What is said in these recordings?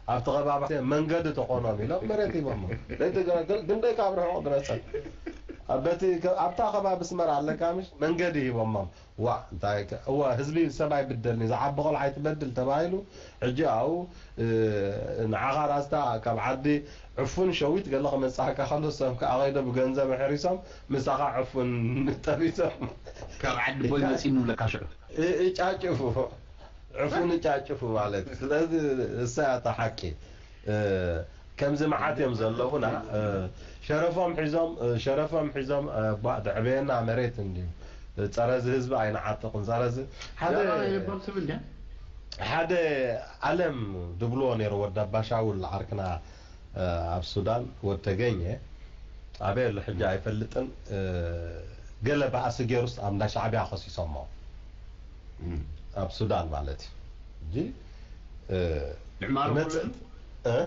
ኣብቲ ከባቢ መንገዲ ተኾኖም ኢሎም መሬት ሂቦሞም። ለይቲ ገ-፣ ግን፣ ግን ደይ ካብ ርሑቕ ድረሰን። ኣብ በቲ ከ-፣ ኣብታ ከባቢ ኣስመራ ኣለካ ምሽ መንገዲ ሂቦሞም። ዋ፣ እንታይ ከ-፣ እወ፣ ህዝቢ ሰብ ኣይብደልኒ፣ ዝዓቢ ቆልዓ ኣይትበድል ተባሂሉ። ሕጂ ኣብኡ፣ እ፣ ንዓኻ ራስታ ካብ ዓዲ ዕፉን ሸዊት ገለ ክመጽኣካ ከሎ ሰብ ከኣ ከይዶ ብገንዘብ ኣሕሪሶም ምሳኻ ዕፉን ጠቢሶም ካብ ዓዲ ቦይ መጺኡ ንብለካ ሽዑ። እ-፣ እጫጭፉ። ዕፉን እጫጭፉ ማለት እዩ። ስለዚ እሳ እያ እታ ሓቂ። እ፣ ከምዚ መዓት እዮም ዘለዉና። እ፣ ሸረፎም ሒዞም፣ እ፣ ሸረፎም ሒዞም፣ እ፣ ቧ-፣ ተዕበየና መሬት እንድዩ። እ፣ ጸረዚ ህዝቢ ኣይንዓጥቕን። ጸረዚ ሓደ፣ ደኣ ይበል ስም እንድያ? ሓደ ኣለም ድብልዎ ነይሩ ወዲ ኣባሻውል ዓርክና፣ እ፣ ኣብ ሱዳን ወድ ተገኘ። ኣበይ ኣሎ ሕጂ ኣይፈልጥን። እ፣ ገለ ባእሲ ገይሩስ ኣብ እንዳ ሻዕብያ ከሲሶሞ። እም። ኣብ ሱዳን ማለት እዩ። እንጂ፣ እ፣ ምዕማሩ ይመጽእ። ኩሉ እ?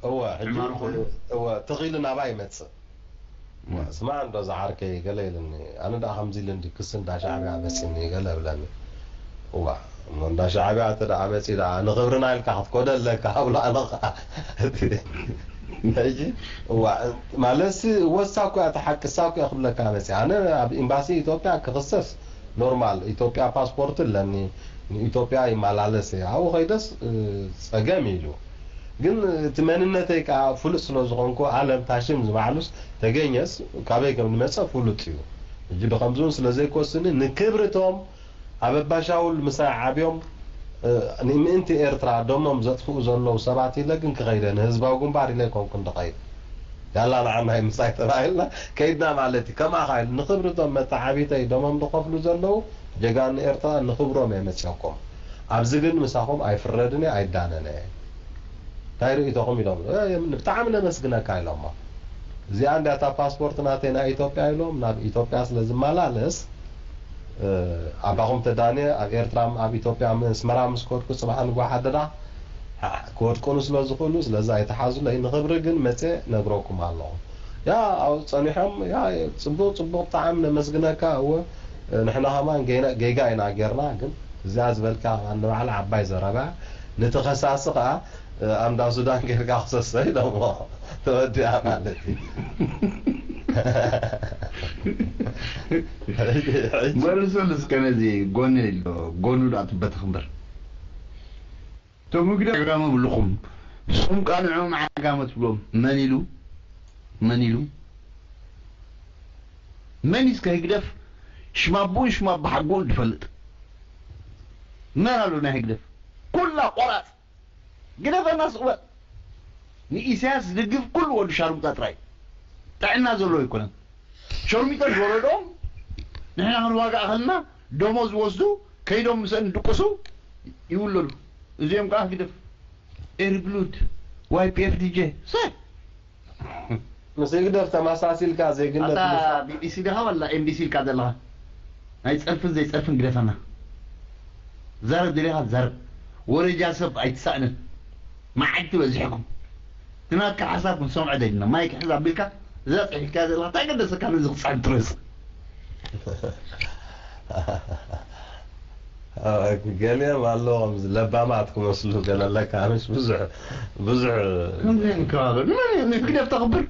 እወ፣ ሕጂ ምዕማሩ ኩሉ። እወ፣ ተኺሉ ናባይ ይመጽእ። እም። ስማዕ እንዶ ዝዓርከይ ገለ ኢልኒ። ኣነ ደኣ ከምዚ ኢሉ እንዲ ክሲ እንዳ ሻዕብያ መጺኒ ገለ ብለኒ። እዋ፣ እሞ እንዳ ሻዕብያ እንተ ደኣ መጺኡ ደኣ ንኽብርና ኢልካ ክትኮደ ኣለካ፣ ኣብሎ ኣነ ኸዓ። ሕጂ፣ እዋ፣ ማለትሲ፣ እወ፣ እሳ እኮ እያ እቲ ሓቂ፣ እሳ እኮ እያ ክብለካ መጺኣ። ኣነ ኣብ ኤምባሲ ኢትዮጵያ ክኽሰስ ኖርማል፣ ኢትዮጵያ ፓስፖርት ኣለኒ፣ ንኢትዮጵያ ይመላለስ እየ። ኣብኡ ኸይደስ፣ እ፣ ጸገም ኢሉ። ግን እቲ መንነተይ ከኣ ፍሉጥ ስለ ዝኾንኩ፣ ኣለም ታሽም ዝባዕሉስ ተገኘስ ካበይ ከም ዝመጸ ፍሉጥ እዩ። ሕጂ ብኸምዚ እውን ስለ ዘይኮስኒ፣ ንክብርቶም ኣብ ኣባሻውል ምሳይ ዓብዮም፣ እ፣ ንምእንቲ ኤርትራ ደሞም ዘጥፍኡ ዘለዉ ሰባት ኢለ ግን ክኸይደ፣ ንህዝባዊ ግንባር ኢለ ኣይኮንኩን ድኸይድ። ያላ ንዓናይ ምሳይ ተባሂልና ከይድና ማለት እዩ። ከምኣ ኸዓ ኢሉ ንኽብርቶም መተዓቢተይ ደሞም ዝኸፍሉ ዘለዉ ጀጋኑ ኤርትራ ንኽብሮም እየ መፅኦኩም። ኣብዚ ግን ምሳኹም ኣይፍረድን እየ፣ ኣይዳነን እየ። እንታይ ርእይቶኹም ኢሎም፣ እ፣ ብጣዕሚ ነመስግነካ ኢሎሞ። እዚኣ እንድያ እታ ፓስፖርት ናተይ ናይ ኢትዮጵያ ኢሎም፣ ናብ ኢትዮጵያ ስለ ዝመላለስ፣ እ፣ ኣባኹም ተዳንየ ኣብ ኤርትራ፣ ኣብ ኢትዮጵያ፣ ኣስመራ ምስ ከድኩ፣ ጽባሕ ንግሆ ሓደዳ ክወድቁኒ ስለ ዝኽእሉ፣ ስለዚ ኣይትሓዙለይ። ንኽብሪ ግን መጽየ ነግረኩም ኣለኹ። ያ፣ ኣብኡ ጸኒሖም፣ ያ፣ ጽቡቕ፣ ጽቡቕ፣ ብጣዕሚ ነመስግነካ። እወ፣ ንሕና ከማን ጌና-፣ ጌጋ ኢና ጌርና፣ ግን እዚኣ ዝበልካ ከማን ንባዕላ ዓባይ ዘረባ፣ ነቲ ከሳሲ ከኣ ኣብ እንዳ ሱዳን ጌርካ ክሰሶ ኢሎሞ። ተወዲኣ ማለት እዩ። ሕጂ፣ ሕጂ። መልሰሉ እስከ ነዚ ጎኒ ኣሎ፣ ጎኑ ደኣ ትበተኽ እምበር። እቶም ህግደፍ ዓጋመ ብልኹም፣ ንስኹም ከኣ ንዕኦም ዓጋመ ትብሎም። መን ኢሉ? መን ኢሉ? መን እዩ እስከ ህግደፍ ሽም ኣቦኡን ሽም ኣቦሓጎኡን ዝፈልጥ? መን ኣሎ ናይ ህግደፍ? ኩላ ቆራጽ። ግደፈና ስቕ በል። ንኢሳያስ ዝድግፍ ኩሉ ወዲ ሻርሙጣ ጥራይ። ጥዕና ዘለዎ ኣይኮነን። ሸርሚጦም ዝወለዶም ንሕና ክንዋጋእ ከለና ደሞዝ ዝወስዱ ከይዶም ምስአን ድቅሱ ይውለዱ። እዚኦም ከዓ ህግደፍ ኤሪ ብሉድ ዋይ ፒ ኤፍ ዲ ጄ ሰ ምስ ህግደፍ ተመሳሲልካ ዜግነት ኣታ ምስራሕ ቢ ቢ ሲ ዲኻ ወላ ኤም ቢ ሲ ኢልካ ዘለኻ? ናይ ጸርፍን ዘይጸርፍን ግደፈና። ዛረብ ደሊኻ ዛረብ። ወረጃ ሰብ ኣይትሳእንን። መዓልቲ በዚሕኩም። እቲ ናትካ ሓሳብ ክንሰምዖ ደሊና። ማይክ ሕዝ ኣቢልካ እዛ ጽሒፍካያ ዘለኻ እንታይ ገደሰካ ነዚ ክጽሕፍ ትርእስ? ገሊኦም ኣለዉ ከምዚ ለባማት ክመስሉ ገለ ኣለካ። ኣነስ ብዙሕ፣ ብዙሕ ከምዚ እዮም ከባቢ። ንመን እዮም ንህግደፍ ተኽብር?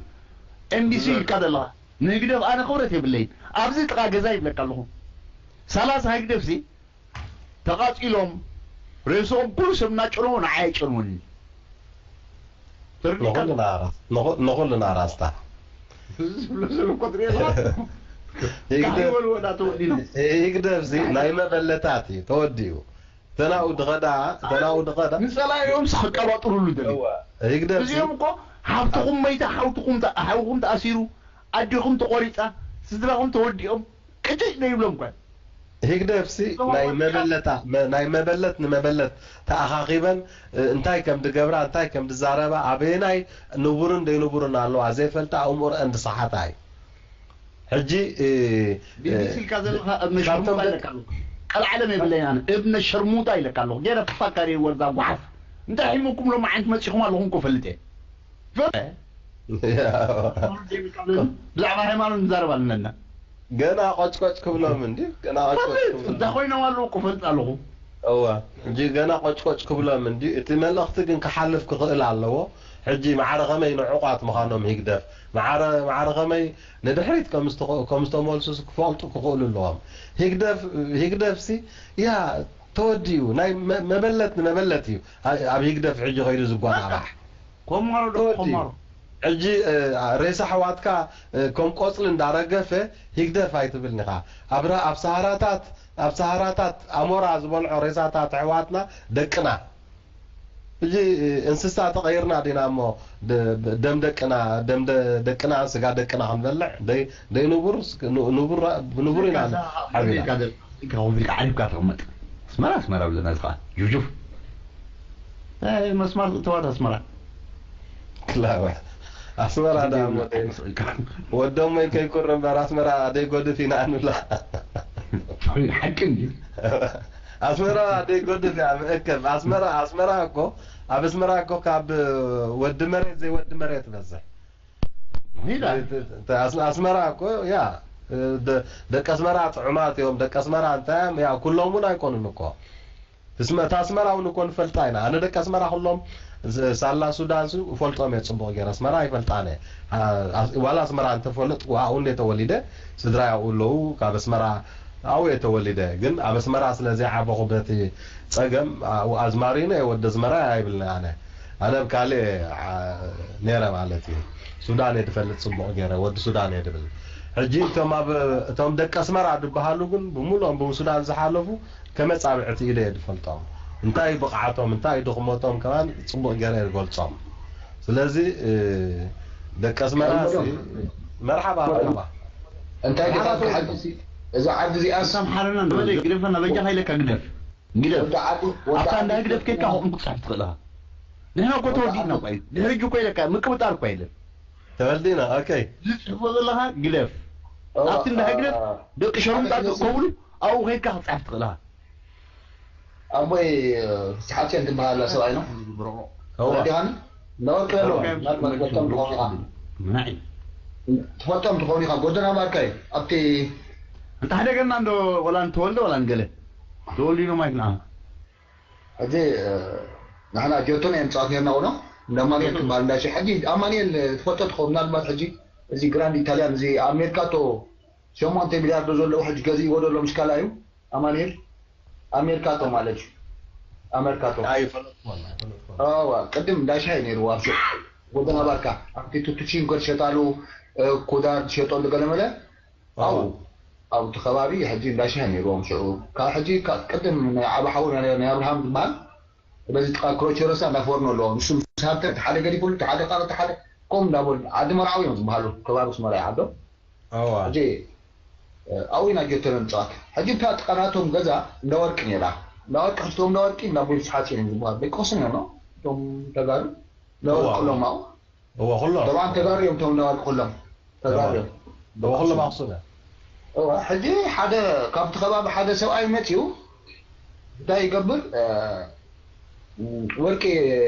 ኤም ቢ ሲ ኢልካ ዘለኻ። ንህግደፍ ኣነ ክብረት የብለይን። ኣብዚ ጥቓ ገዛ ይብለካ ኣለኹ። ሰላሳ ህግደፍሲ ተቓጺሎም ሬስኦም ኩሉ ሰብ እናጨነዎ ንዓይ ኣይጨንወንን። ተረዲእካ? ንኹልና ራስ-፣ ንኹ-፣ ንኹልና ራስታ። እዚ ዝብሎ ዘሎ እኮ ትሪኦ ኣለኻ? ይግደፍ-፣ እንታይ ይበልዎ እናተወዲኖም? ይግደፍሲ ናይ መበለታት እዩ ተወዲኡ። ተናኡ ድኸዳ፣ ተናኡ ድኸዳ። ንጸላኢኦምስ ክቀባጥሩሉ ደልዩ። እወ፣ ይግደፍሲ። እዚኦም እኮ ሃብትኹም መይታ፣ ሓውትኹም ተ-፣ ሓውኹም ተኣሲሩ፣ ኣዴኹም ተቖሪጻ፣ ስድራኹም ተወዲኦም፣ ቅጭጭ ደይብሎም እኳ። ህግደፍሲ እዞም ናይ ኣወዳት መበለታ-፣ መ-፣ ናይ መበለት ንመበለት ተኣኻኺበን፣ እ፣ እንታይ ከም ድገብራ፣ እንታይ ከም ድዛረባ፣ ኣበየናይ ንቡርን ደይንቡርን ኣለዋ ዘይፈልጣ፣ ኣእምሮአን ዝሰሓታ እዩ። ሕጂ፣ እ፣ ቢ ቢ ሲ እ፣ ኢልካ ዘለኻ እብነ ካብቶም ሸርሙጣ ደቂ ኢለካ ኣለኹ። ቀልዓለም የብለይን ኣነ። እብነ ሸርሙጣ ኢለካ ኣለኹ። ገለ ክፋካሪ ወርዛ ጓሓፍ። እንታይ ሒሙኩም ሎም ዓንት መጺኹም ኣለኹም እኮ ፈልጥ እየ። ፈ-፣ ብዛዕባ ሃይማኖት ንዛረብ ኣለና። ገና ቆጭቆጭ ክብሎም እንዲ፣ ገና ቆጭቆጭ ፈልጥ፣ ክብሎም። እንታይ ኮይኖም ኣለዉ እኮ ፈልጥ ኣለኹ። እወ፣ ሕጂ ገና ቆጭቆጭ ክብሎም እንዲ፣ እቲ መልእኽቲ ግን ክሓልፍ ክኽእል ኣለዎ። ሕጂ ማዕረ ከመይ ንዑቓት ምዃኖም ሂግደፍ፣ ማዕረ፣ ማዕረ ከመይ ንድሕሪት ከም ዝተ-፣ ከም ዝተመልሱስ ክፈልጡ ክኽእሉ ኣለዎም። ሂግደፍ፣ ሂግደፍሲ፣ ያ፣ ተወዲኡ፣ ናይ መ-፣ መበለት ንመበለት እዩ ኣ-፣ ኣብ ሂግደፍ ሕጂ ከይዱ ዝጓባባሕ። ኮማሮ ዶ ተወዲኡ። ኮማሮ? ሕጂ፣ እ፣ ሬሳ ኣሕዋትካ፣ እ፣ ከም ቆጽሊ እንዳረገፈ ሂግደፍ ኣይትብልኒ ኢኻ። ኣብ ራ-፣ ኣብ ሰሃራታት፣ ኣብ ሰሃራታት ኣሞራ ዝበልዖ ሬሳታት ኣሕዋትና ደቅና። ሕጂ፣ እ፣ እንስሳ ተቐይርና ዲና እሞ ደ-፣ ደም ደቅና፣ ደም ደ-፣ ደቅና፣ ስጋ ደቅና ክንበልዕ? ደይ-፣ ደይ ንቡር፣ ስ-፣ ን-፣ ንቡር፣ ብንቡር ኢና ኢልካ ዓቢና። ኢልካ ደ-፣ ኢልካ ኮፍ ኢልካ ዓሪፍካ ተቐመጥ። ኣስመራ፣ ኣስመራ ብለና እዚ ኸኣ። ጁፍጁፍ። እ፣ መስመር እተዋት ኣስመራ። ክላወ። ኣስመራ ዳ ወደ-፣ ወደሞይ ከይኩር እምበር ኣስመራ ደይጎድፍ ኢና ንብላ። ሓቂ እንዲ። ኣስመራ ደይጎድፍ እያ ምእከብ። ኣስመራ፣ ኣስመራ እኮ፣ ኣብ ኣስመራ እኮ ካብ ወዲ መሬት ዘይወዲ መሬት ትበዝሕ። ሂዳ። ኣስ-፣ ኣስመራ እኮ፣ ያ፣ ደ-፣ ደቂ ኣስመራ ጥዑማት እዮም። ደቂ ኣስመራ እንታይ እዮም? ያ፣ ኩሎም እውን ኣይኮኑን እኮ። እስመ-፣ እታ ኣስመራ እውን እኮ ንፈልጣ ኢና። ኣነ ደቂ ኣስመራ ኩሎም ስ-፣ ሳላ ሱዳን ሱ እፈልጦም እየ ጽቡቕ ገይረ። ኣስመራ ኣይፈልጣን እየ። ኣ-፣ ኣስ-፣ ዋላ ኣስመራ እንተፈለጥኩ ኣብኡ እንደ ተወሊደ፣ ስድራይ ኣብኡ ኣለዉ። ካብ ኣስመራ ኣብኡ እየ ተወሊደ። ግን ኣብ ኣስመራ ስለ ዘይዓበኹ በቲ ጸገም፣ ኣብኡ ኣዝማሪኖ እየ፣ ወዲ ኣዝመራ ኣይብልን ኣነ። ኣነ ኣብ ካልእ እየ፣ ዓ-፣ ነይረ ማለት እዩ። ሱዳን እየ ድፈልጥ ጽቡቕ ገይረ፣ ወዲ ሱዳን እየ ድብል። ሕጂ እቶም ኣብ፣ እቶም ደቂ ኣስመራ ድበሃሉ ግን ብምሉኦም ብሱዳን ዝሓለፉ ከመጻብዕቲ ኢለ እየ ዝፈልጦም። እንታይ ብቕዓቶም፣ እንታይ ድኽመቶም ከማን ጽቡቕ ገይረ እየ ዝገልጾም። ስለዚ፣ እ፣ ደቂ ኣስመራ ሲ-፣ መርሓባ፣ መርሓባ። እንታይ ደኣ መርሓባ ክሓድሲ፣ እዛ ዓዲ እዚኣ ኣምሓረና እንዶ በለ፣ ግደፈና፣ በጃኻ ኢለካ ግደፍ። ግደፍ። ወዲ ዓዲ፣ ወዲ ኣብታ እንዳ ዓዲ። ህግደፍ ኬድካ ከምኡ ክትጽሕፍ ትኽእል ኢኻ። ንሕና እኮ ተወዲእና እኮ እዩ። ድሕሪ ሕጂ እኮ ኢለካ፣ ምቅብጣር እኮ የለን። ተወዲእና፣ ኦኬ። ዝጽሕፎ ዘለኻ ግደፍ። እወ፣ ኣብቲ እንዳ ህግደፍ እ፣ ደቂ ሸርሙጣ ሓደ ክእከብሉ፣ ኣብኡ ኬድካ ክትጽሕፍ ትኽእል ኢኻ። ኣቦይ፣ እ፣ ፍስሓጽዮን ትበሃል ኣላ ሰብኣይ ነው። እወ። ተረዲኻኒ? እንዳወርቂ ኣለዎ። ኦኬ፣ ምናልባት ትፈልጦም ትኸውን ኢኻ። ምናዒ። ትፈልጦም ትኸውን ኢኻ። ጎደና ባርካ እዩ። ኣብቲ እንተ ሓደ ገና እንዶ ወላ ንተወልደ ወላ ንገለ። ተወልዲኖም ኣይክንዓ። ሕጂ፣ እ፣ ንሕና ጆቶና እዮም ጸዋት ነርና ውኖ። እንዳ ኣማኑኤል ትበሃል እንዳ ሸ-፣ ሕጂ ኣማኑኤል ትፈልጦ ትኸውን ምናልባት ሕጂ እዚ ግራንድ ኢታልያን እዚ ኣብ ሜርካቶ ሸሞንተ ሚልያርዶ ዘለዎ ሕጂ ገዚእዎ ዘሎ ምሽ ካልኣዩ ኣማኑኤል ኣብ ሜርካቶ ማለት እዩ። ኣብ ሜርካቶ። ኣይፈለጥኩዎን፣ ኣይፈለጥኩዎን። ኣዋ፣ ቅድም እንዳ ሻሂ ነይርዎ ኣብ ሹቕ ጎደና ባርካ። ኣብቲ ቱቱቺንኮ ትሸጣሉ፣ እ፣ ኩዳር ትሸጠሉ ገለመለ። ኣዎ። ኣብኡ፣ ኣብቲ ከባቢ ሕጂ እንዳ ሻሂ ነይርዎም ሽዑ። ካብ ሕጂ፣ ካብ ቅድም ናይ ዓቢ ሓዉ ናይ፣ ናይ ኣብርሃም ዝበሃል፣ በዚ ጥቓ ክሮቸሮሳ እንዳ ፎርኖ ኣለዎ። ንሱ ምስ ሃብተ፣ እቲ ሓደ ገዲፉሉ፣ እቲ ሓደ ካልእ፣ እቲ ሓደ ከምኡ እንዳበሉ፣ ዓዲ መርዓዊ እዮም ዝበሃሉ፣ ከባቢ ኣስመራ እዩ ዓዶም። ኣዋ። ሕጂ፣ እ፣ ኣብኡ ኢና ጀቶነ ንጻወት። ሕጂ እታ ጥቓ ናቶም ገዛ እንዳ ወርቂ ነይራ። እንዳ ወርቂ፣ ሕጂ እቶም እንዳ ወርቂ፣ እንዳ ኣቦይ ፍስሓጽዮን እዮም ዝበሃሉ። ደቂ ኣኽሱም እዮም፣ ኖ? እቶም ተጋሩ፣ እንዳ ወርቂ እዋ። ኩሎም ኣብኡ። እዋ፣ ኩሎም። ጠብዓን ተጋሩ እዮም፣ እቶም እንዳ ወርቂ ኩሎም። ተጋሩ እዋ። እዮም። እዋ፣ ኩሎም ኣኽሱም እዮም። እዋ፣ ሕጂ ሓደ ካብቲ ከባቢ ሓደ ሰብኣይ መጺኡ፣ እንታይ ይገብር? እ፣ ወርቂ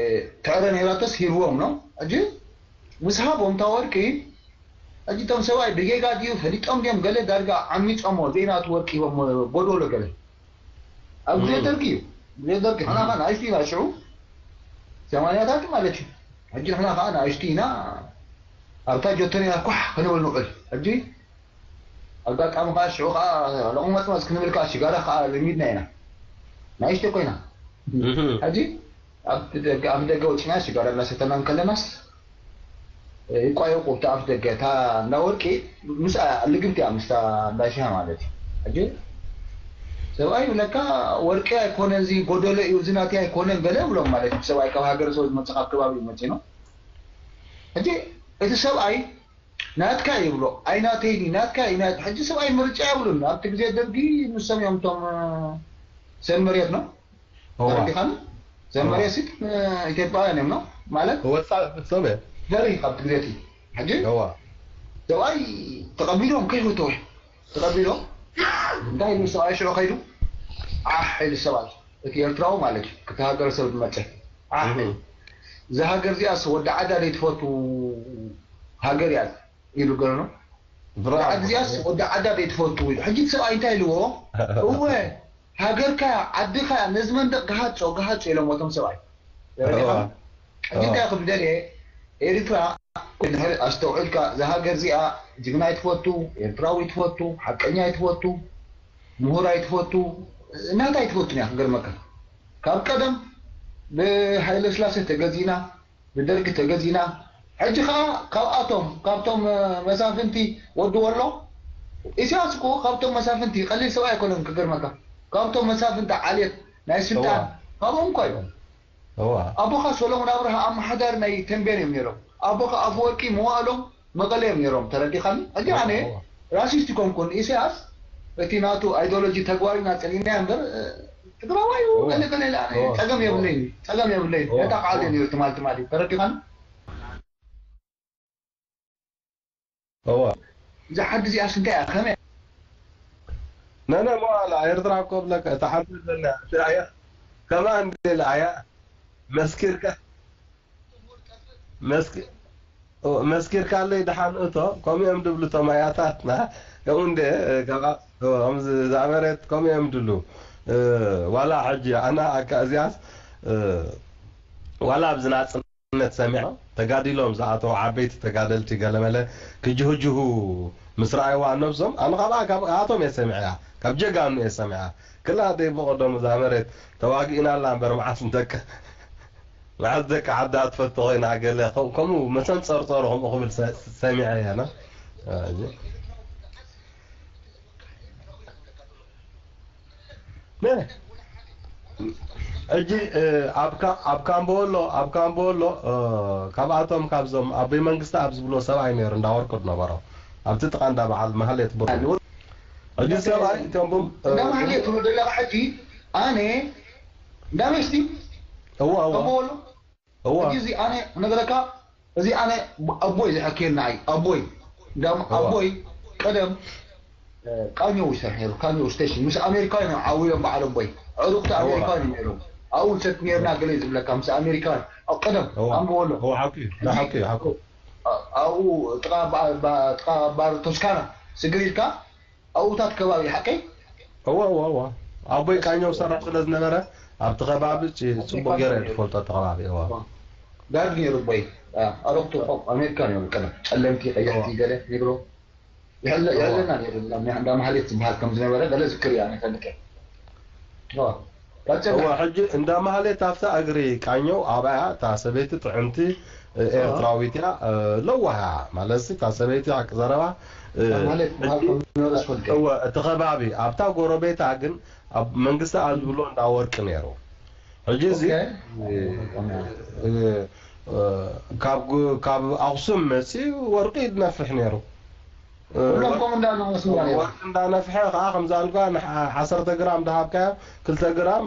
ትዕረ ነይራቶስ ሂብዎም ነው። ሕጂ ምስ ሃቦም እታ ወርቂ፣ ሕጂ እቶም ሰብኣይ ብጌጋ ድዩ ፈሊጦም ድዮም ገለ ዳርጋ ዓሚጾሞ ዘይናቱ ወርቂ ሂቦሞ ጎዶሎ ገለ። ኣብ ግዜ እም። ደርጊ እዩ። ግዜ ደርጊ ንሕና ኸኣ ንኣሽቱ ኢና ሽዑ፣ ሰማንያታት ማለት እዩ። ሕጂ ንሕና ኸኣ ንኣሽቱ ኢና፣ ኣብታ ጆቶኒ ኢና ኳሕ ክንብል ንውዕል። ሕጂ ኣጋጣሚ ኸኣ ሽዑ ኸኣ ለቑመጽመጽ ክንብል ከኣ ሽጋራ ኸኣ ለሚድና ኢና። ንኣሽቱ ኮይና። እህ። ሕጂ ኣብ ደገ፣ ኣብ ደገ ወጺና ሽጋራ እናሰተና እንከለናስ፣ ይቋየቁ ኣብቲ ኣፍ ደገ። እታ እንዳ ወርቂ ምስኣ ልግብቲ እያ ምስታ እንዳ ሽሃ ማለት እዩ። ሕጂ ሰብኣይ ይብለካ፣ "ወርቂ ኣይኮነን፣ እዚ ጎደሎ እዩ፣ እዚ ናተይ ኣይኮነን" ገለ ይብሎም ማለት እዩ። ሰብኣይ ካብ ሃገረ ሰብ ዝመጽእ፣ ካብ ከባቢ ዝመጽእ ነው። ሕጂ እቲ ሰብኣይ "ናትካ" ይብሎ፣ "ኣይ ናተይ ድዩ፣ ናትካ እዩ፣ ናት-" ሕጂ ሰብኣይ ምርጫ የብሉን። ኣብቲ ግዜ ደርጊ ንሶም እዮም እቶም፣ እ፣ ሰብ መሬት ነው። እዋ። ተረዲኻኒ? እዋ። ዘመርያ ሲት፣ እ፣ ኢትዮጵያውያን እዮም ነው ማለት? ወጻእ ፍጹም እየ። ዘርኢ ካብቲ ግዜ እቲ። ሕጂ እዋ። ሰብኣይ ተቐቢሎም ከይፈተወ። ተቐቢሎም። እንታይ ኢሉ ሰብኣይ ሽዑ ከይዱ? ዓሕ ኢሉ ሰብኣይ። እቲ ኤርትራዊ ማለት እዩ። ክቲ ሃገረ ሰብ ዝመጸ። ዓሕ ኢሉ። እህ። እዛ ሃገር እዚኣስ ወዲ ዓዳ ዘይትፈቱ ሃገር እያ ኢሉ ገለ ነው። ብራቮ። እዛ ዓዲ እዚኣስ ወዲ ዓዳ ዘይትፈቱ ኢሉ። ሕጂ እቲ ሰብኣይ እንታይ ኢልዎ? እወ። ሃገርካ፣ ዓድኻ፣ ነዚ መንደቕ ግሃጾ፣ ግሃጾ ኢሎም ወቶም ሰብኣይ። ተረዲኻ? ሕጂ እንታይ ክብደል እየ? ኤርትራ፣ ድሕሪ ኣስተውዒልካ፣ እዛ ሃገር እዚኣ ጅግና ይትፈቱ፣ ኤርትራዊ ይትፈቱ፣ ሓቀኛ ይትፈቱ፣ ምሁር ኣይትፈቱ፣ እናታ ኣይትፈቱን እያ። ክገርመካ፣ ካብ ቀደም ብሃይለ ስላሴ ተገዚእና፣ ብደርጊ ተገዚእና። ሕጂ ኸዓ ካብኣቶም፣ ካብቶም መሳፍንቲ ወዲ ወሎ፣ ኢሳያስ እኮ ካብቶም መሳፍንቲ ቀሊል ሰብኣይ ኣይኮነን። ክገርመካ፣ ካብቶም መሳፍንቲ ዓሌት ናይ ስልጣን፣ ካብኦም እኳ እዮም። ኣቦኻ ሰሎሞን ኣብርሃ ኣመሓዳሪ ናይ ተንቤን እዮም ነይሮም። ኣቦኻ ኣፈወርቂ መዋእሎም መቐለ እዮም ነይሮም። ተረዲኻኒ? ሕጂ ኣነ ራሲስት ይኮንኩን። ኢሳያስ እቲ ናቱ ኣይዲዮሎጂ ተግባሪና ጸሊእናዮ እምበር፣ ትግራዋይ እዩ፣ ገለ ገለ ኢለ ኣነ ጸገም የብለይን፣ ጸገም የብለይን። ነታ ቃል እዩ ነይሩ ትማል ትማል እዩ። ተረዲኻኒ? እዋ። እዛ ዓዲ እዚኣስ እንታይ እያ? ከመይ? ነነ መዋላ ኤርትራ እኮ ብለካ፣ እታ ዓዲ ዘለና እያ። ከማን ደላ እያ። መስኪርካ፣ መስኪ-፣ ኦ፣ መስኪርካለይ ደሓን እቶ፣ ከምኡ እዮም ድብሉ እቶም ኣያታትና። ከምኡ እንደ፣ እ፣ ከምኣ-፣ ኦ፣ ከምዚ ዝኣመረት ከምኡ እዮም ድብሉ። እ፣ ዋላ ሕጂ ኣና ኣካ እዚኣስ፣ እ፣ ዋላ ኣብዚ ናጽነት ሰሚዖ፣ ተጋዲሎም ዝኣተው ዓበይቲ ተጋደልቲ ገለመለ ክጅህጅሁ ምስ ረኣይዋ ነብሶም፣ ኣነ ካብኣ፣ ካብ፣ ካብኣቶም እየ ሰሚዐያ፣ ካብ ጀጋኑ እየ ሰሚዐያ። ክላ ደይ ብቐደሙ እዛ መሬት ተዋጊእና ኣላ እምበር መዓስ ንደቂ፣ መዓስ ደቂ ዓዳ ትፈቱ ኮይና ገለ ከም-፣ ከምኡ መሰንጸርጸሩ ከምኡ ክብል ሰ-፣ ሰሚዐ እየ፣ ና? እ፣ ሕጂ፣ እ፣ ኣብ ካ-፣ ኣብ ካምቦ ኣሎ፣ ኣብ ካምቦ ኣሎ፣ እ፣ ካብኣቶም ካብዞም ኣቦይ መንግስቲ ኣብ ዝብሎ ሰብኣይ ነይሩ፣ እንዳ ወርቁ ዝነበሮ። ኣብቲ ጥቓ እንዳ በዓል ማህሌት ብሩ። ሕጂ ሰብኣይ እቶም ቡም-፣ እ፣ እንዳ ማህሌት ትብሎ ዘለኻ ሕጂ፣ ኣነ እንዳ መስቲ እዋ፣ እዋ። ካምቦ ኣሎ። እዋ። ሕጂ እዚ ኣነ ክነግረካ፣ እዚ ኣነ ኣቦይ ዝሐኬልና እዩ። ኣቦይ፣ እንዳም-፣ እዋ። ኣቦይ ቀደም፣ እ፣ ቃኘው ይሰርሕ ነይሩ፣ ቃኘው ስቴሽን። ምስ ኣሜሪካውያን እዮም ዓው ኢሎም በዓል ኣቦይ። ዕሩኽቲ እዋ። ኣሜሪካውያን እዮም ነይሮም። ኣብኡ ንሰቲ ነይርና ገለ እዩ ዝብለካ፣ ምስ ኣሜሪካውያን። ኣብ ቀደም፣ እዋ። ኣንብቦ ኣሎ። እዋ፣ ሓቂ፣ እዚ ሓቂ፣ ሓቂ። ኣ-፣ ኣብኡ ጥቓ ባ-፣ ባ-፣ ጥቓ ባር ቶስካና ስግር ኢልካ፣ ኣብኡታት ከባቢ፣ ሓቀይ? እዋ፣ እዋ፣ እዋ። ኣቦይ ቃኘው ሰራሕ ስለ ዝነበረ፣ ኣብቲ ከባቢ ጭ-፣ ጽቡቕ ገይረ እየ ዝፈልጦ፣ እቲ ከባቢ፣ እዋ። ጋርድ ነይሩ ኣቦይ። ኣ፣ ኣረግቱ እኮ ኣሜሪካ ነይሩ፣ ቀደም። ጸለምቲ፣ ቀያሕቲ፣ እዋ። ገለ ነይሩ። ይሕለ-፣ እዋ። ይሕለና ነይሩ፣ እንዳ፣ እንዳ ማህሌት ዝበሃል ከም ዝነበረ፣ ገለ ዝክር እያ፣ እኔ ፈልጠ። እዋ። ቀጽል። እዋ፣ ሕጂ እንዳ ማህሌት ኣብታ እግሪ ቃኘው ኣብኣ እታ ሰበይቲ ጥዕምቲ፣ እ፣ እዋ። ኤርትራዊት እያ፣ እ፣ ለዋህ እያ። ማለትሲ እታ ሰበይቲ ሓቂ ዘረባ፣ እ፣ እንዳ ማህሌት ዝበሃል ሕጂ፣ ከም ዝነበረ ዝፈልጥ እየ። እወ፣ እቲ ከባቢ ኣብታ ጎረቤታ ግን ኣብ መንግስቲ ኣብ ዝብሎ እንዳ ወርቂ ነይሩ። ሕጂ እዚ፣ ኦኬ። እ፣ እ፣ እ፣ ካብ ጉ-፣ ካብ ኣኽሱም መጺኡ ወርቂ ይነፍሕ ነይሩ። እ፣ ኩሎም ከምኡ እንዳበሉ መስመር እዮም። ወርቂ እንዳነፍሐ ከዓ ከምዛ ኣልጋ ንሓ-፣ ዓሰርተ ግራም እንዳሃብካዮ ክልተ ግራም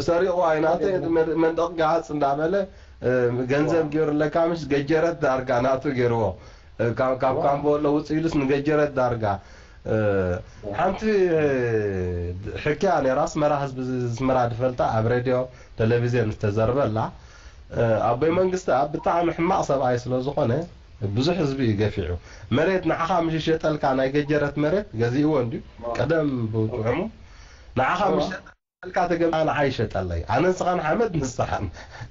ሰሪቑ ኣይናተ መድ-፣ መንደቕ ገሃጽ እንዳበለ፣ እ፣ ገንዘብ ዋው። ገይሩለካ ምሽ ገጀረት ዳርጋ ናቱ ገይርዎ። እ፣ ካብ፣ ካብ ዋው። ካምቦ ለውጽ ኢሉስ ንገጀረት ዳርጋ። እ፣ ዋው። ሓንቲ፣ እ፣ ሕክያ ነይራ፣ ኣስመራ ህዝቢ ኣስመራ ዝፈልጣ ኣብ ሬድዮ ቴሌቪዝዮን ዝተዘርበላ። እ፣ ኣቦይ መንግስቲ ኣብ ብጣዕሚ ሕማቕ ሰብኣይ ስለ ዝኾነ ብዙሕ ህዝቢ እዩ ገፊዑ። መሬት ንዓኻ ምሽ ይሸጠልካ፣ ናይ ገጀረት መሬት ገዚእዎ እንድዩ። ዋው። ቀደም ብጥዑሙ። ንዓኻ ዋው። ምሽ ሸጠልካ ተገምታ ንዓይ ይሸጠለይ። ኣነ ንስኻን ሓመድ ንስኻን።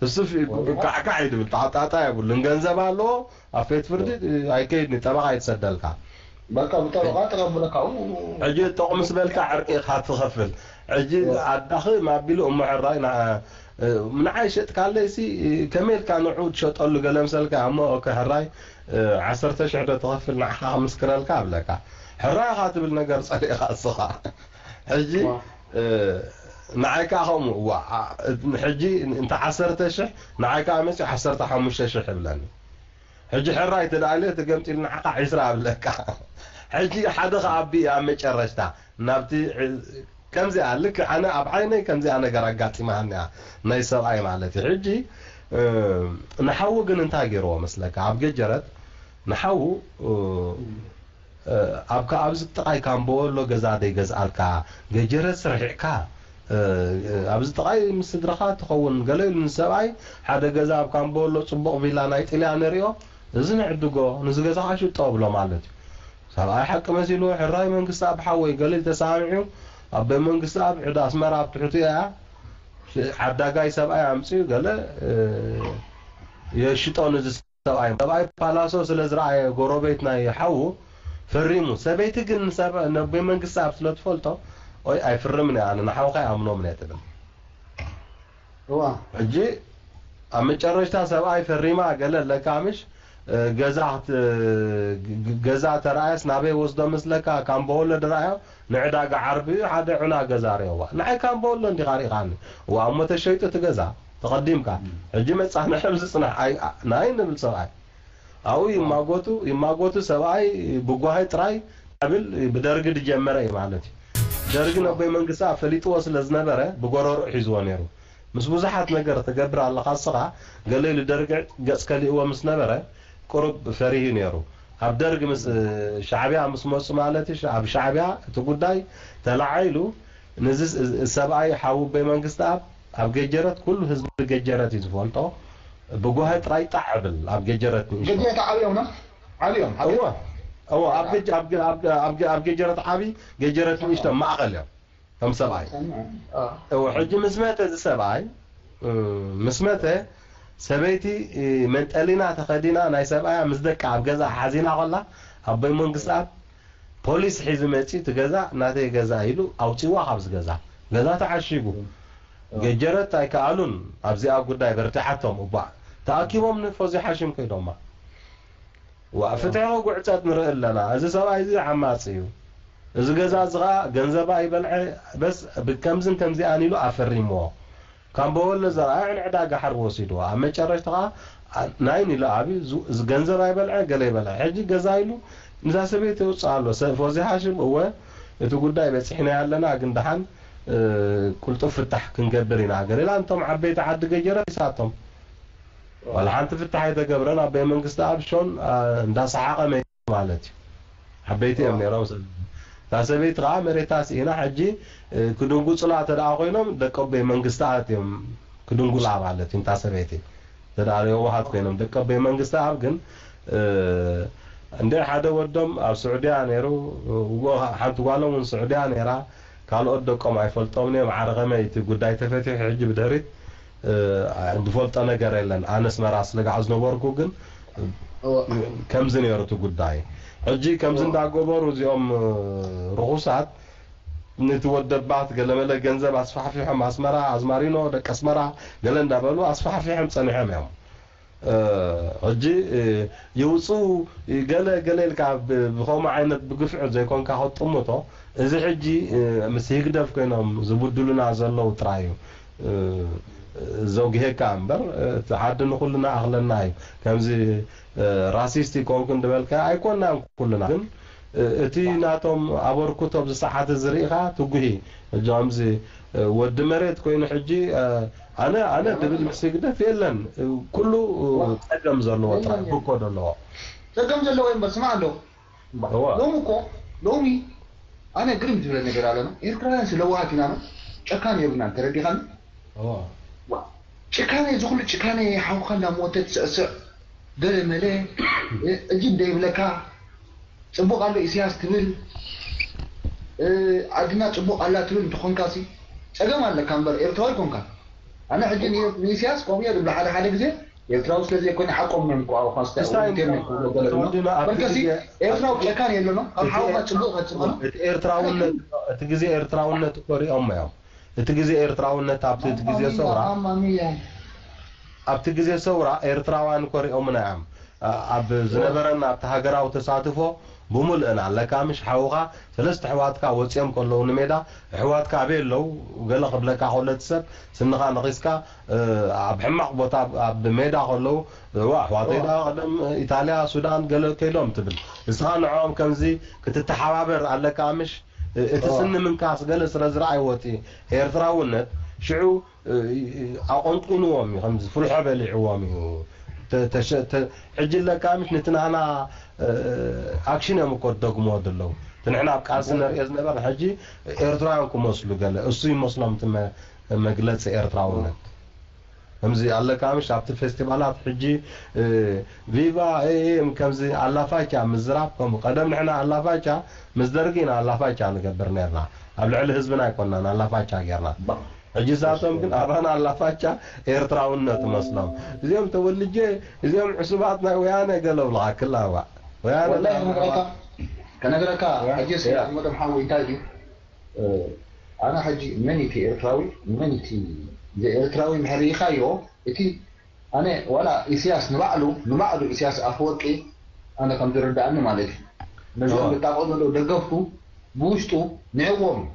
እሱ ፊ-፣ ዋው። ካዕካዕ እዩ ድብል፣ ጣዕጣዕጣ የብሉን። ገንዘብ ኣለዎ፣ ኣብ ቤት ፍርዲ ኣይከይድን፣ ጠበቓ ይትሰደልካ። በቃ ብጠበቓ ተቐብለካ፣ ኡ፣ ኡ፣ ኡ። ሕጂ ጥቕሚ ስበልካ ዕርቂ ኢኻ ትኸፍል። ሕጂ ዋው። ኣዳኺ ማቢሉ እሞ ሕራይ ንዓ-፣ እ፣ ንዓይ ሸጥካለይሲ፣ ከመይ ኢልካ ንዕኡ ትሸጠሉ ገለ ምሰልካ፣ እሞ ኦኬ፣ ሕራይ፣ እ፣ ዓሰርተ ሽሕ ዶ ትኸፍል ንዓኻ ክምስክረልካ እብለካ። ሕራይ ኢኻ ትብል ነገር ጸሊእኻ እስኻ። ሕጂ፣ ዋው። እ፣ ንዓይ ከኣ ከምኡ፣ ዋ፣ ኣ-፣ ሕጂ እንተ ዓሰርተ ሽሕ፣ ንዓይ ከኣ መጺኡ ዓሰርተ ሓሙሽተ ሽሕ እብለኒ። ሕጂ ሕራይ ተደኣልዮ ተገምጢሉ ንዓኻ ዒስራ ኣብለካ። ሕጂ ሓደ ከኣቢ ኣብ መጨረሽታ ናብቲ ዕ-፣ ከምዚኣ ልክ ኣነ ኣብ ዓይነይ ከምዚኣ ነገር ኣጋጢማኒ እያ፣ ናይ ሰብኣይ ማለት እዩ። ሕጂ፣ እ፣ ንሓዉ ግን እንታይ ገይርዎ መስለካ? ኣብ ገጀረት ንሓዉ፣ እ፣ እ፣ ኣብ ከ-፣ ኣብዚ ጥቓይ ካምቦ ኣሎ ገዛ ደይገዝኣልካ፣ ገጀረት ስርሒዕካ፣ እ፣ ኣብዚ ጥቓይ ምስ ስድራኻ ትኸውን ገለ ኢሉ ንሰብኣይ ሓደ ገዛ ኣብ ካምቦ ኣሎ፣ ጽቡቕ ቪላ ናይ ጥልያን ንሪኦ፣ እዚ ንዕድጎ፣ ንዚ ገዛ ከዓ ሽጦ ብሎ ማለት እዩ። ሰብኣይ ሓቂ መሲሉ፣ ሕራይ መንግስቲ ኣብ ሓወይ ገለ ኢሉ ተሰማሚዑ፣ ኣብ ቤት መንግስቲ ኣብ ዕዳ ኣስመራ ኣብ ትሕቱ እያ። ዓዳጋይ ሰብኣይ ኣምፅኡ ገለ የሽጦ ንዚ ሰብኣይ። ሰብኣይ ፓላሶ ስለ ዝረኣየ ጎረቤት ናይ ሓዉ ፈሪሙ። ሰበይቲ ግን ንሰብ ናብ ቤት መንግስቲ ኣብ ስለ ትፈልጦ ኦይ ኣይፍርምን እያ፣ ኣነ ንሓውካ ይኣምኖም እየ ትብል። እዋ ሕጂ ኣብ መጨረሽታ ሰብኣይ ፈሪማ ገለ ኣለካ ምሽ ገዛ ገዛ ተረኣየስ ናበይ ወስዶ መስለካ? ካምቦ ወለድ ረኣዮ ንዕዳጋ ዓርቢ ሓደ ዑና ገዛ ርእዋ። ንዓይ ካምቦ ወሎ እንዲኻ ሪኢኻኒ። እዋ እሞ ተሸይጡ እቲ ገዛ ተቐዲምካ። ሕጂ መጻንሒ ኣብዚ ጽናሕ ናይ ንብል ሰብኣይ ኣብኡ ይማጎቱ ይማጎቱ። ሰብኣይ ብጓሂ ጥራይ ብል ብደርጊ ድጀመረ እዩ ማለት እዩ። ደርጊ ነቦይ መንግስቲ ፈሊጥዎ ስለ ዝነበረ ብጎረርኡ ሒዝዎ ነይሩ። ምስ ብዙሓት ነገር ትገብር ኣለኻ እስኻ ገለ ኢሉ ደርጊ ገጽ ከሊእዎ ምስ ነበረ ቁሩብ ፈሪሁ ነይሩ። ኣብ ደርግ ምስ ሻዕቢያ ምስ መፁ ማለት እዩ። ኣብ ሻዕቢያ እቲ ጉዳይ ተላዒሉ ንዚ ሰብኣይ ሓውቦይ መንግስቲ ኣብ ኣብ ገጀረት ኩሉ ህዝቢ ገጀረት እዩ ዝፈልጦ። ብጓሂ ጥራይ ጣዕ ብል ኣብ ገጀረት ንእሽቶ ገጀረት ዓብዮም ነው ዓብዮም እዎ እዎ ኣብ ገጀረት ዓብይ ገጀረት ንእሽቶ ማእኸል እዮም። ከም ሰብኣይ እዎ ሕጂ ምስ መተ እዚ ሰብኣይ ምስ መተ ሰበይቲ መንጠሊና ተኸዲና ናይ ሰብኣያ ምስ ደቃ ኣብ ገዛ ሓዚና ከላ ኣቦይ መንግስት ኣብ ፖሊስ ሒዙ መፂኡ እቲ ገዛ ናተይ ገዛ ኢሉ ኣውፂዋ ካብዚ ገዛ ገዛ ተዓሺጉ ገጀረት ኣይከኣሉን ኣብዚኣ ጉዳይ በርቲዓቶም እባ ተኣኪቦም ንፎዚ ሓሽም ከይዶማ ዋ ፍትሒ ክጉዕፀጥ ንርኢ ኣለና። እዚ ሰብኣይ እዚ ዓማፂ እዩ። እዚ ገዛ እዚ ከዓ ገንዘባ ይበልዐ በስ ብከምዝን ከምዚኣን ኢሉ ኣፈሪምዎ። ካምቦ ወሎ ዘርኣ ንዕዳጋ ሓርቢ ወሲድዎ። ኣብ መጨረሽታ ከዓ ናይን ኢሉ ኣብዩ ገንዘብ ኣይበልዐ ገለ ይበልዐ። ሕጂ ገዛ ኢሉ ንዛ ሰበይቲ የውፅኣ ኣሎ። ፎዚ ሃሽም እወ እቲ ጉዳይ በፂሕናዮ ኣለና ግን ደሓን ቁልጡፍ ፍታሕ ክንገብር ኢና። ገለ ኢላ እንቶም ዓበይቲ ዓዲ ገጀረት ይሳቶም። ዋላ ሓንቲ ፍታሕ ኣይተገብረን ኣቦይ መንግስቲ ኣብ ሾን እንዳሰሓቐ መይቱ ማለት እዩ። ዓበይቲ እዮም ነይሮም ሰብ እታ ሰበይቲ ከዓ መሬታ ስኢና ሕጂ ክድንጉፁላ ተደኣ ኮይኖም ደቂ ኣቦይ መንግስቲ ኣት እዮም ክድንጉላ ማለት እዩ እታ ሰበይቲ ተደኣ የዋሃት ኮይኖም ደቂ ኣቦይ መንግስቲ ኣብ ግን እንደ ሓደ ወዶም ኣብ ስዑድያ ነይሩ ሓንቲ ጓሎም እውን ስዑድያ ነይራ ካልኦት ደቆም ኣይፈልጦምን እዮም። ዓረ ከመይ እቲ ጉዳይ ተፈቲሑ ሕጂ ብድሕሪት ዝፈልጦ ነገር የለን። ኣነ ኣስመራ ስለ ጋዕ ዝነበርኩ ግን ከምዚ ነይሩ እቲ ጉዳይ። ሕጂ ከምዚ እንዳገበሩ እዚኦም ርኹሳት ነቲ ወደባት ገለመለ ገንዘብ ኣስፋሕፊሖም ኣስመራ ኣዝማሪኖ ደቂ ኣስመራ ገለ እንዳበሉ ኣስፋሕፊሖም ጸኒሖም እዮም። ሕጂ ይውፅኡ ገለ ገለ ኢልካ ብከምኡ ዓይነት ብግፍዒ ዘይኮንካ ከጥምቶ እዚ ሕጂ ምስ ህግደፍ ኮይኖም ዝብድሉና ዘለዉ ጥራይ እዩ ዘውግሄካ እምበር እቲ ዓዲ ንኩልና ኣኽለና እዩ ከምዚ ራሲስት ይኮንኩ እንደበልካ ኣይኮናን ኩልና ግን እቲ ናቶም ኣበርክቶ ኣብዚ ሰዓት እዚ ርኢኻ ትጉሂ ሕጂ ከምዚ ወዲ መሬት ኮይኑ ሕጂ ኣነ ኣነ ድብል ምስ ህግደፍ የለን ኩሉ ጸገም ዘለዎ ጥራይ ብኮ ዘለዎ ጸገም ዘለዎ እምበር ስማዕ ኣሎ ሎሚ እኮ ሎሚ ኣነ ግርም ዝብለ ነገር ኣለና ኤርትራውያን ስለዋሃት ኢና ነው ጨካን የብልናን ተረዲኻኒ ጭካነ እዚ ኩሉ ጭካነ ሓውካ እንዳሞተ ትስዕስዕ ገለ መለ እጅ እንደይብለካ ጽቡቕ ኣሎ ኢሳያስ ትብል ዓድና ጽቡቕ ኣላ ትብል እንተኾንካ ሲ ጸገም ኣለካ እምበር ኤርትራዊ ኮንካ ኣነ ሕጂ ንኢሳያስ ከምኡ እየ ዝብሎ ሓደ ሓደ ግዜ ኤርትራዊ ስለ ዘይኮነ ሓቆም እዮም እኮ ኣውኻ ስታይ እንታይ ኢንተርኔት ክብሎ ገለ ድማ ተወዲና ኣብቲ በርከሲ ግዜ- ኤርትራዊ ጨካን የለኖ ካብ ሓውኻ ጽቡቕ ከጽመኖ እቲ ኤርትራውነት እቲ ግዜ ኤርትራውነት እኮ ሪኦም እዮም እቲ ግዜ ኤርትራውነት ኣብቲ እቲ ግዜ ሰውራ ማማ ሚያ ኣብቲ ግዜ ሰውራ ኤርትራውያን እኮ ሪኦምና እዮም ኣብ ዝነበረና ኣብቲ ሃገራዊ ተሳትፎ ብምልእና ኣለካ ምሽ ሓውኻ ሰለስተ ኣሕዋትካ ወፂኦም ከለዉ ንሜዳ ኣሕዋትካ ኣበይ ኣለዉ ገለ ክብለካ ከሎ እቲ ሰብ ስንኻ ነኺስካ ኣብ ሕማቕ ቦታ ኣብ ሜዳ ከለዉ እዋ ኣሕዋተይ ደኣ ቀደም ኢታልያ ሱዳን ገለ ከይዶም ትብል እስኻ ንዕኦም ከምዚ ክትተሓባበር ኣለካ ምሽ እቲ ስኒ ምንካስ ገለ ስለ ዝረኣይዎ እቲ ኤርትራውነት ሽዑ ኣቆንቁንዎም እዩ ከምዚ ፍልሖ በሊዕዎም እዩ ሕጂ ለካ ምሽ ነቲ ናህና ኣክሽን እዮም እኮ ዝደግምዎ ዘለዉ እቲ ንሕና ኣብ ቃልሲ ነርእዮ ዝነበርና ሕጂ ኤርትራውያን ክመስሉ ገለ እሱ ይመስሎም እቲ መግለፂ ኤርትራውነት ከምዚ ኣለካ ምሽ ኣብቲ ፌስቲቫላት ሕጂ ቪቫ ኤኤም ከምዚ ኣላፋቻ ምዝራብ ከምኡ ቀደም ንሕና ኣላፋቻ ምስ ደርጊ ኢና ኣላፋቻ ንገብር ነርና ኣብ ልዕሊ ህዝብና ኣይኮናን ኣላፋቻ ጌርና። ሕጂ ሳቶም ግን ኣባና ኣላፋቻ ኤርትራውነት መስሎም። እዚኦም ተወልጄ፣ እዚኦም ዕሱባት ናይ ወያነ ገለ ብልኻ ክላዋ። ወያነ ወላሂ ከነግረካ፣ ከነግረካ፣ ሕጂ እስኪ ያ። ኣሕመዶም ሓወይ እንታይ ድዩ? እ፣ ኣነ ሕጂ መን እቲ ኤርትራዊ፣ መን እቲ ዘይኤርትራዊ እንድሕር ርኢኻዮ፣ እቲ ኣነ ዋላ ኢሳያስ ንባዕሉ፣ ንባዕሉ ኢሳያስ ኣፈወርቂ ኣነ ከም ዝርድኣኒ ማለት እዩ። ነዞም እወ። ዝጣቕዑ ዘለዉ ደገፍቱ ብውሽጡ ንዕዎም እዩ።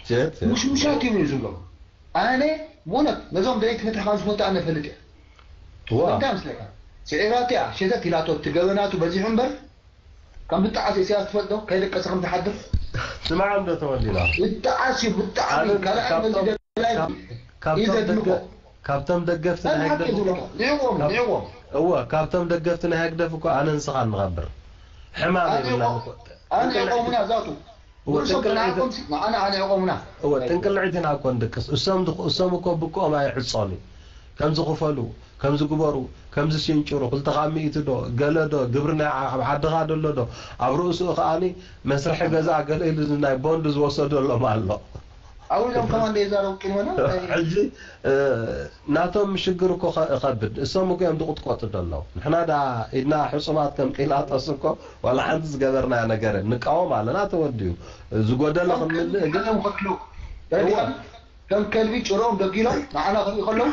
ሴት፣ ሴት። ሙሽሙሻት እዮም እዩ ዝብሎም። ኣነ ብእውነት ነዞም ደለይቲ ፍትሒ ካብ ዝፈልጡ ኣነ እፈልጥ እየ። እወ። እንታይ መስለካ? ስዒራቶ እያ፣ ሸተት ኢላቶ፣ እቲ ገበናቱ በዚሑ እምበር፣ ከም ብጣዓስ ኢሳያስ ትፈልጦ፣ ከይደቀሰ ከም ዝሓድር? ስማዕ እንዶ ተወሊና። ብጣዓስ እዩ፣ ብጣዕሚ። ኣነ ካልኣይ ካብቶም፣ መዚ ደላይ ካብ-፣ እዩ ካብቶም ዘድንቆ። ደገ-፣ ካብቶም ደገፍቲ ናይ ናይ ሓቂ ህግደፍ እኮ፣ ዝብሎ። ንዕዎም፣ ካብ-፣ ንዕዎም። እወ፣ ካብቶም ደገፍቲ ናይ ህግደፍ እኮ ኣነ ንስኻ ንኸብር። ሕማም ኣነ የብልናን ይቆም-፣ እኮ። ኣነ ይቆምና ዛቱ። እወ፣ ርእሶም ጥንቅልዒት-፣ ተናቆም ሲ-፣ ንዓና ኣነ ይቆምና። እወ፣ ጥንቅልዒት ኢና እኮ ንድቅስ። እሶም ድኽ-፣ እሶም እኮ ብቆም ኣይዕጾን እዩ። ከም ዝኽፈሉ፣ ከም ዝግበሩ፣ ከም ዝሽንጭሩ፣ ክልተ ካብ ሚእቲ ዶ፣ ገለ ዶ፣ ግብሪ ናይ ዓ-፣ ኣብ ዓድኻ ደሎ ዶ፣ ኣብ ርእሱ ከኣኒ መስርሒ ገዛ ገለ ኢሉ ናይ ቦንድ ዝወሰደሎም ኣሎ። ኣብኡ ኢሎም ከማን ደይ ዛረቡ ቂልመና? ሕጂ፣ እ፣ ናቶም ሽግር እኮ ኸ-፣ ኸብድ። እሶም እኮ እዮም ዝቕጥቀጡ ደለዉ። ንሕና ዳ ኢድና ሕጹባት ከም ጲላጦስ እኮ ዋላ ሓንቲ ዝገበርናዮ ነገር ንቃወም ኣለና፣ ተወዲኡ። ዝጎደለ ከም ክንምልእ ግን ከልቢ ከልቢ፣ እወ። ከም ከልቢ ጭሮም ደጊሎም ንዓና ክርኢ ከለዉ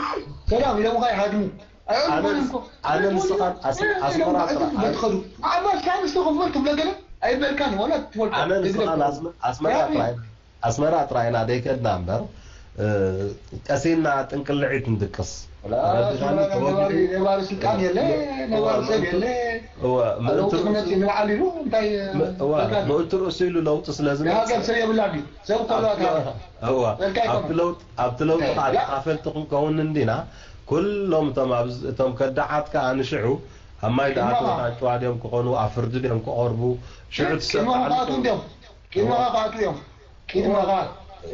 ሰላም ኢሎም ኸ ይሃድሙ። ኣነ፣ ኣይዕልሙን እኮ። ኣነ ንስኻን ኣስ-፣ ኣስመራ ጥራሕ። በትኸዱ። ዓባስ ካብ ዝተኸፈል ትብሎ ገለ ኣይበልካን ዋላ ትፈልጦ። ኣነ ንስኻን ኣስመ-፣ ኣስመራ ጥራሕ። ኣስመራ ጥራይና ደይከድና እምበር፣ እ፣ ቀሲና ጥንቅልዒት ንድቅስ። ወላ ተረዲኻኒ? ኣስመራ ተወግዱ። ነባሪ፣ ነባሪ ስልጣን የለ፣ እወ፣ ነባሪ ሰብ ምእንቱ-፣ የለ። እወ፣ ኣብ ምእንቱ ለውጢ ርእሱ፣ ክንዓል ኢሉ እንታይ፣ ም-፣ እወ፣ በቃ። ምእንቱ ርእሱ ኢሉ ለውጢ ስለ ዝመጽእ። የሃገር ሰብ የብላን ድዩ? ሰብ ከሎ ኣታ-፣ እወ፣ በቃ ኣብቲ ይኮነ። ለውጥ፣ ኣብቲ ለውጢ ያ። ከዓ ተኻፈልቲ ክንከውን እንዲና፣ ኩሎም እቶም ኣብዚ፣ እቶም ከዳዓት ከዓ ንሽዑ ኣብ ማይ ቂድመኻ። ደኣተው ኣንጭዋ ድዮም ክኾኑ፣ ኣብ ፍርዲ ድዮም ክቐርቡ፣ ሽዑ ትሰብ ቂድመኻ በዓል ክኣትዉ እንዲዮም። ቂድመኻ ክኣትዉ እዮም። ቂድመኻ።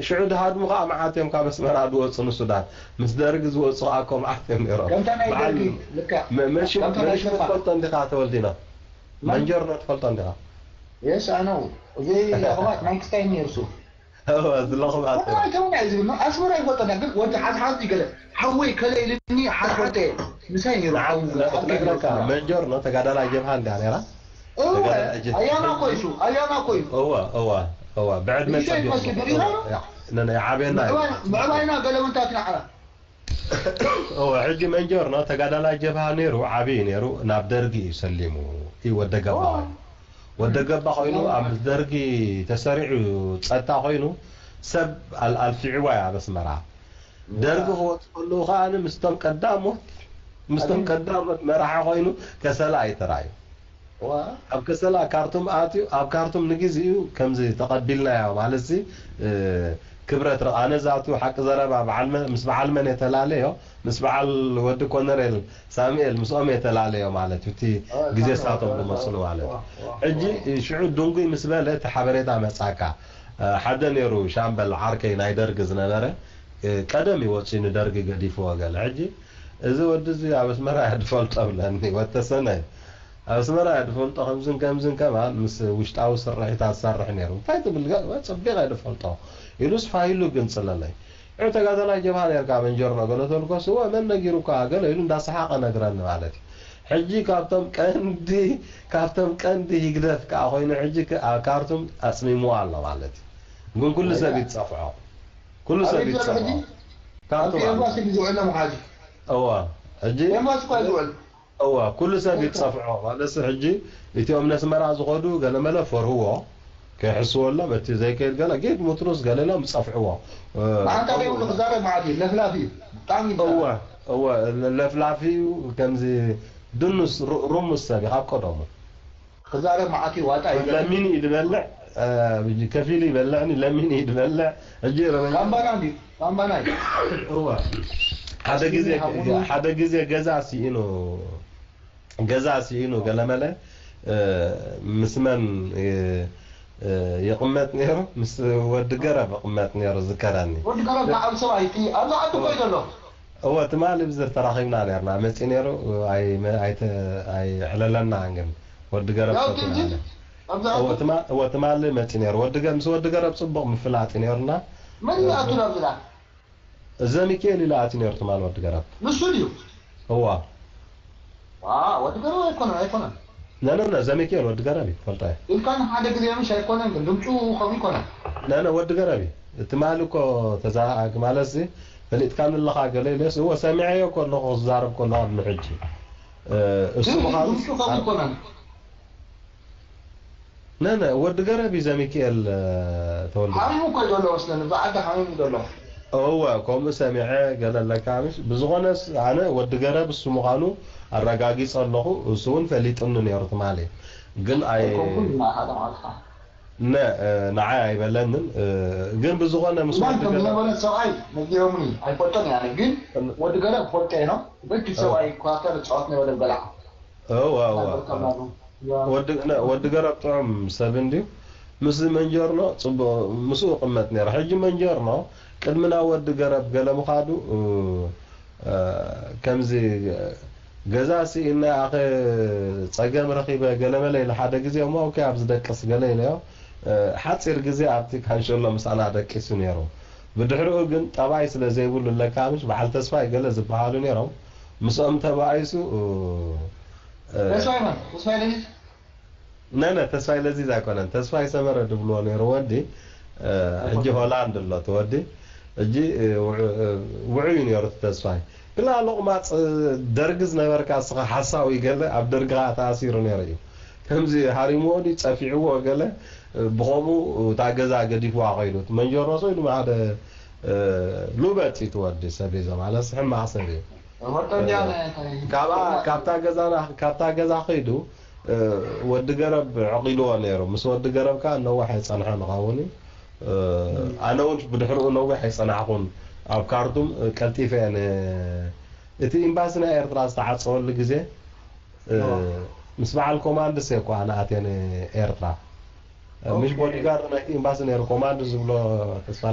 ሽዑ ድሃድሙ ኸዓ መዓት እዮም ካብ ኣስመራ ዝወፁ ንሱዳን። ምስ ደርጊ ዝወፁ ኸዓ እኮ መዓት እዮም ነይሮም። ከምታ ናይ በዓል ደርጊ፣ ልክዕ። መ-፣ መሽን፣ ከምታ ናይ መሽን ሸፋ። ትፈልጦ እንዲኻ ተወልዲና? መን? መንጀርኖ ትፈልጦ እንዲኻ? የስ፣ ኣነው። እዚ ኣኽባት ናይ ክስታይ ነይሩ እሱ። እወ፣ ዝለኽባት እወ፣ እዮም። ኣይተመን እዩ ዝብል፣ ኣስመራ ይፈልጠና፣ ግን ወዲ ሓዝሓዝ እዩ ገለ። ሓወይ ከለ ኢልኒ ሓዝሓዝ እየ። ምሳይ ነይሩ ንዓ-፣ ሓው ን-፣ ሓው ክነግረካ፣ ሓው። መንጀርኖ ተጋዳላይ ጀብሃ እንድያ ነይራ? እወ፣ ተጋዳላይ ጀ-፣ ኣያና እኮ እዩ እሱ፣ ኣያና እኮ እዩ። እወ፣ እወ፣ እወ፣ ብዕድመ ንእሽተይ ጸቢቑ። ትመስል፣ ብሪራ ነው? ያ፣ ን-፣ ን-፣ ይዓብየና እዩ። ምዕባይ-፣ ምዕባይና ገለ ምንታት ንዓና። እወ፣ ሕጂ መንጀርኖ ተጋዳላይ ጀብሃ ነይሩ፣ ዓብዪ ነይሩ፣ ናብ ደርጊ እዩ ሰሊሙ። እዩ ወደ ገባ እወ። ኮይኑ። ወደ ገባ ኮይኑ፣ ኣብ ምስ ደርጊ ተሰሪዑ ጸጥታ ኮይኑ፣ ሰብ ኣል-፣ ኣልፊዕዋ እዩ ኣብ ኣስመራ። ደርጊ ክወጽእ ከለዉ ከኣ ምስቶም ቀዳሞት፣ ምስቶም ኣግኝ- ቀዳሞት መራሒ ኮይኑ ከሰላ እዩ ተራእዩ። ዋ። ኣብ ከሰላ ካርቱም ኣትዩ፣ ኣብ ካርቱም ንግዜኡ ከምዚ ተቐቢልናዮ ማለትሲ፣ እ፣ ክብረት ረ-፣ ኣነ ዛቱ ሓቂ ዘረባ በዓል መ-፣ ምስ በዓል መን እየ ተላለዮ? ምስ በዓል ወዲ ኮነሬል ሳሙኤል ምስኦም እየ ተላለዮ ማለት እዩ። እቲ ዋ፣ ግዜ ሳሙኤል፣ ሳቶም ዋ፣ ዝመጽሉ ዋ፣ ማለት እዩ። ዋ፣ ዋ፣ ሕጂ ዋ። ሽዑ ድንጉይ ምስ በለ እቲ ሓበሬታ መጻካ። እ፣ ሓደ ነይሩ ሻምበል ዓርከይ ናይ ደርጊ ዝነበረ፣ እ፣ ቀደም እዩ ወጺኡ ንደርጊ ገዲፍዎ ገለ። ሕጂ እዚ ወዲ እዚ ኣብ ኣስመራ እየ ዝፈልጦ ብለኒ፣ ወተሰነ እዩ። ኣብ ኣስመራ እየ ዝፈልጦ፣ ከምዝን ከምዝን ከማን ምስ ውሽጣዊ ስርሒታት ዝሰርሕ ነይሩ። እንታይ ትብል? ገ-፣ ጸቢቐ እየ ዝፈልጦ ኢሉስ ፋይሉ ግን ጽለለይ። እ፣ ተጋዳላይ ጀብሃ ነርካ መንጀርኖ ገለ ተልኮስ፣ እወ፣ መን ነጊሩካ? ገለ ኢሉ እንዳሰሓቐ ነግረኒ ማለት እዩ። ሕጂ ካብቶም ቀንዲ፣ ካብቶም ቀንዲ ህግደፍ ከኣ ኮይኑ ሕጂ ከ-፣ ኣብ ካርቱም ኣጽሚምዎ ኣሎ ማለት እዩ። ግን ኩሉ ሰብ ይጸፍዖ። ኩሉ ሰብ ኣበይ ዘሎ ይጸፍዖ። ሕጂ? ካርቱም ኣብቲ ኣሎ። ኤምባሲ እዩ ዝውዕል ሎም ሓጂ። እወ። ሕጂ ኤምባሲ እኳ እዩ ዝውዕል። እወ፣ ኩሉ ሰብ ይጸፍዖ። ማለትሲ ሕጂ እቲኦም ነስመራ ዝኸዱ ገለመለ ፈርህዎ። ከይሕስወሎም፣ እቲ ዘይከይድ ገለ ጌት ሙትሩስ ገለ ኢሎም ጸፍዕዎ። እ፣ መዓንጣ ከምኡ ዘይብሉ ክዛረብ መዓት እዩ። ለፍላፊ እዩ። ብጣዕሚ እዩ እወ፣ ዝዛረብ። እወ፣ ለፍላፊ እዩ። ከምዚ ድኑስ ሩ-፣ ሩሙስ ሰብ እዩ ካብ ቀደሙ። ክዛረብ መዓት እዩ። ዋጣ እዩ። ለሚኑ እዩ ዝበልዕ፣ እ፣ ከፊሉ ይበልዕኒ፣ ለሚኑ እዩ ዝበልዕ። ሕጂ ረመ-፣ ካምባና እንድዩ። ካምባና እዩ። እወ። ሓደ ግዜ፣ ሓደ ግዜ ገዛ ስኢኑ ገዛ ስኢኑ ገለመለ፣ እ፣ ምስ መን፣ እ፣ እ፣ ይቕመጥ ነይሩ? ምስ ወዲ ገረብ ይቕመጥ ነይሩ ዝከረኒ። ወዲ ገረብ ዝዓቢ ሰብኣይ፣ እቲ ኣብዛ ዓዲ እኮ እዩ ዘሎ። እወ፣ ትማሊ ብዝር ተራኺብና ነርና። መጺኡ ነይሩ፣ ኣይ-፣ ኣይተ-፣ ኣይዕለለናን ግን ወዲ ገረብ ያው ፈቲና ትንትን ነርና። እወ ትማ- እወ ትማሊ መፂ ነይሩ ወዲ ገ- ምስ ወዲ ገረብ ፅቡቕ ምፍላጥ እዩ ነይሩና። መን ይኣቱ ናብ ዝላ? እዘ ሚካኤል ኢሉ ኣትዩ ነይሩ ትማሊ ወዲ ገረብ። ንሱ ድዩ? እዋ። ዋ፣ ወዲ ገረብ ኣይኮነን፣ ኣይኮነን። ነነነ ዘሚካኤል ወዲ ገረብ እዩ ፈልጣ እዩ። ኢልካ ንሓደ ግዜ ምሽ ኣይኮነን ግን ድምፁ ከምኡ ይኮነን። ነነ ወዲ ገረብ እዩ። ትማሊ እኮ ተዛራኣግ ማለት ሲ ፈሊጥካ ንለኻ ገለ ኢለስ እወ ሰሚዐዮ ከለኹ ክዛረብ ከሎ ኣብ ንሕጂ እሱ ግን ምዃኑ ድምፁ ከምኡ ይኮነን። ነነ ወዲ ገረብ እዩ ዘሚካኤል ተወልደ። ሓሚሙ እኮ እዩ ዘሎ መስለኒ፣ ብዓዲ ሓሚሙ ዘሎ። እወ ከምኡ ሰሚዐ ገለ ኣለካ ምሽ ብዝኾነስ ኣነ ወዲ ገረብ እሱ ምዃኑ ኣረጋጊጸ ኣለኹ። እሱ እውን ፈሊጡኒ ነይሩ ትማሊ ግን ኣይ ኣይኮንኩን እና ሓደ ማለት ነ ንዓይ ኣይበለንን። ግን ብዝኾነ ምስ ወዲ ገረብ ዝነበረ ሰብኣይ ነጊሮምኒ ኣይፈልጦን እያ ግን ወዲ ገረብ ፈልጦ እየ ነው በቂ ሰብኣይ ኳተር ጸዋት ነው ወደ በላዓ እወ እወ ወዲ ገረብ ጥዑም ሰብ እንድዩ። ምስ መንጀርኖ ጽቡቕ ምስኡ ቅመጥ ነይረ። ሕጂ መንጀርኖ ቅድሚ ናብ ወዲ ገረብ ገለ ምኻዱ ከምዚ ገዛ ስኢና ኣኸ ጸገም ረኺበ ገለመለ ኢለ ሓደ ግዜ እሞ ኦኬ ኣብዚ ደቅስ ገለ ኢለዮ። ሓጺር ግዜ ኣብቲ ካንሸሎ ምሳና ደቂሱ ነይሩ። ብድሕሪኡ ግን ጠባይ ስለ ዘይብሉ ለካ ምሽ በዓል ተስፋይ ገለ ዝበሃሉ ነይሮም። ምስኦም ተባኢሱ ተስፋይ መን? ተስፋይ ለሊት? ነነ ተስፋይ ለዚዝ ኣይኮነን ተስፋይ ሰመረ ድብልዎ ነይሩ ወዲ ሕጂ ሆላንድ ኣሎ እቲ ወዲ ሕጂ ውዑይ ነይሩ እቲ ተስፋይ ግላ ሎቕማፅ ደርጊ ዝነበርካ እስኻ ሓሳዊ ገለ ኣብ ደርጊ ከዓ ተኣሲሩ ነይሩ እዩ ከምዚ ሃሪምዎ ድዩ ፀፊዕዎ ገለ ብኸምኡ እታ ገዛ ገዲፍዋ ከይዱ እቲ መንጀሮ ሰው ኢሉ ሓደ ሉበፂ እቲ ወዲ ሰብ እዩ ማለት ሕማቕ ሰብ እዩ ካብኣ ካብታ ገዛና ካብታ ገዛ ከይዱ ወዲ ገረብ ዕቒልዎ ነይሩ። ምስ ወዲ ገረብ ከኣ ነዋሕ ኣይጸንሐን እኸውን እዩ። ኣነ እውን ብድሕሪኡ ነዊሕ ኣይጸናሕኹን። ኣብ ካርቱም ቀልጢፈ እየ ን- እቲ ኤምባሲ ናይ ኤርትራ ዝተዓጸወሉ ግዜ ምስ በዓል ኮማንድስ እየ እኮ ኣነ ኣትየ ንኤርትራ። ምሽ ቦዲጋርድ ናይቲ ኤምባሲ ነይሩ ኮማንድስ ዝብሎ ተስፋ